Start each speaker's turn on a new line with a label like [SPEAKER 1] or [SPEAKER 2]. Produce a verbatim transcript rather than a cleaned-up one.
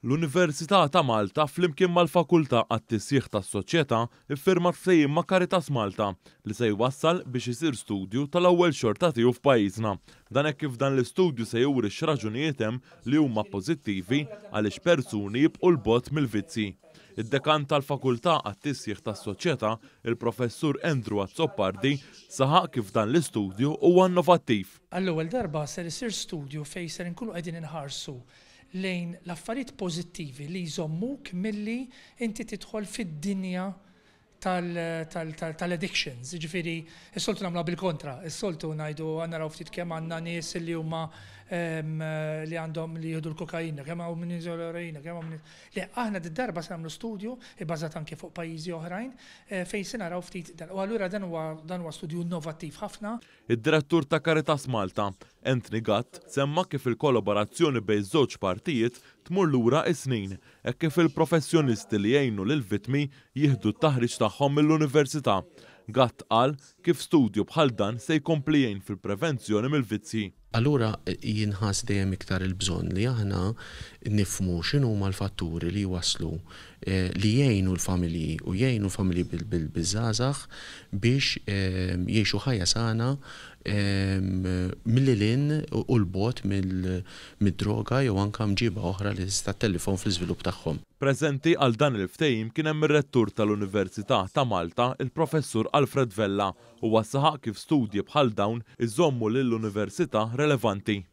[SPEAKER 1] L-Università ta' Malta flimkien mal-Fakultà għat-Tisjieħ tas-Soċjetà iffirmat ftehim ma' Caritas Malta li se jwassal biex isir studju tal-ewwel xorta tiegħu f'pajjiżna. Dan hekk kif dan l-istudju se juri x'raġunijiet hemm li huma pożittivi għaliex persuni jibqgħu 'l bogħod mill-vizzji. Id-dekan tal-Fakultà għat-Tisjieħ tas-Soċjetà, il-Professur Andrew Azzopardi, saħaq kif dan l-istudju huwa innovattiv.
[SPEAKER 2] Għall-ewwel darba ser isir studju fejn ser inkunu qegħdin inħarsu lejn l-affarijiet pożittivi li jżommuk milli inti tidħol fid-dinja tal-addictions. Ġifieri, is-soltu nagħmluha bil-kontra, is-soltu ngħidu naraw ftit kemm għandna nies li huma li għandhom li jieħdu l-kokaina, kemm hawn min jużaw l-eroina, kemm hawn. Le, aħna d-darba se nagħmlu studju ibbażat anke fuq pajjiżi oħrajn fejn se naraw ftit dan. U allura dan huwa dan huwa studju innovattiv ħafna.
[SPEAKER 1] Id-direttur ta' Caritas Malta, Anthony Gatt, semma kif il-kollaborazzjoni bejn żewġ partijiet tmur lura is-snin, hekk kif il-professjonisti li jgħinu lil-vittmi jieħdu t-taħriġ tagħhom mill-università. Gatt qal kif studju bħal dan se jkompli jgħin fil-prevenzjoni mill-vizzji.
[SPEAKER 3] Allura jinħass dejjem iktar il-bżonn li aħna nifhmu x'inhuma l-fatturi li waslu li jgħinu l-familji u jgħinu l-familji bil-żgħażagħ biex jgħixu ħajja sana milli lil hinn u 'l bogħod mid-droga jew anke mġiba oħra li tista' ttellifhom fl-iżvilupp tagħhom.
[SPEAKER 1] Preżenti għal dan il-ftehim kien hemm ir-rettur tal-Università ta' Malta, il-Professur Alfred Vella, u saħaq kif studji bħal dawn iżommu lill-Università relevanti.